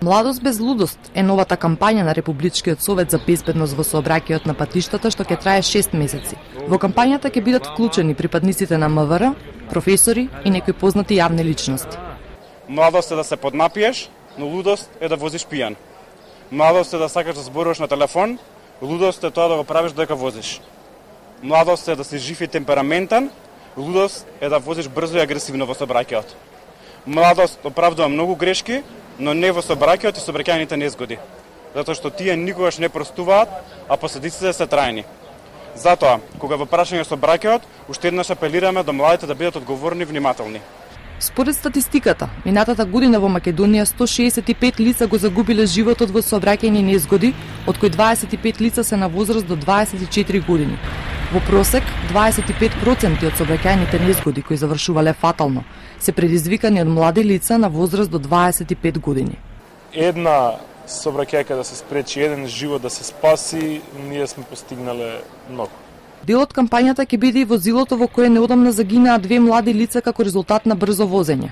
Младост без лудост е новата кампања на Републичкиот совет за безбедност во сообраќајот на патиштата што ќе трае 6 месеци. Во кампањата ќе бидат вклучени припадниците на МВР, професори и некои познати јавни личности. Младост е да се поднапиеш, но лудост е да возиш пијан. Младост е да сакаш да зборуваш на телефон, лудост е тоа да го правиш додека возиш. Младост е да си жив и темпераментен, лудост е да возиш брзо и агресивно во сообраќајот. Младост оправдува многу грешки, но не во сообраќајот и сообраќајните незгоди, затоа што тие никогаш не простуваат, а последиците се трајни. Затоа, кога во прашање сообраќајот, уште еднаш апелираме до младите да бидат одговорни и внимателни. Според статистиката, минатата година во Македонија 165 лица го загубиле животот во сообраќајни незгоди, од кои 25 лица се на возраст до 24 години. Во просек, 25% од сообраќајните незгоди кои завршувале фатално се предизвикани од млади лица на возраст до 25 години. Една сообраќајка да се спречи, еден живот да се спаси, ние сме постигнале многу. Дел од кампањата ќе биде и возилото во кое неодамна загинаа 2 млади лица како резултат на брзо возење.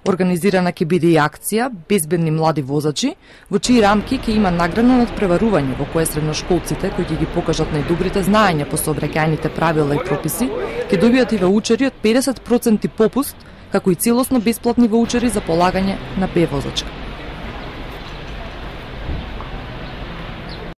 Организирана ќе биде и акција Безбедни млади возачи, во чии рамки ќе има наградно надпреварување во кое средношколците кои ќе ги покажат најдобрите знаења по сообраќајните правила и прописи, ќе добијат и ваучери од 50% попуст, како и целосно бесплатни ваучери за полагање на Б возачка.